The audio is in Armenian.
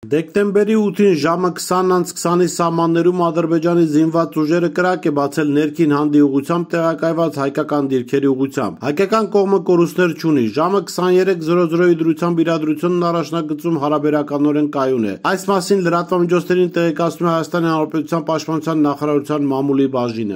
Դեկտեմբերի 8-ին ժամը 20:20-ի սահմաններում Ադրբեջանի զինված ուժերը կրակ է բացել ներքին հանդի ուղղությամբ տեղակայված հայկական դիրքերի ուղղությամբ։ Հայկական կողմը կորուստներ չունի։ Ժամը 23:00-ի դրությամբ իրադրությունն առաջնագծում հարաբերականորեն կայուն է։ Այս մասին լրատվամիջոցներին տեղեկացնում է Հայաստանի Հանրապետության Պաշտպանության նախարարության մամուլի բաժինը։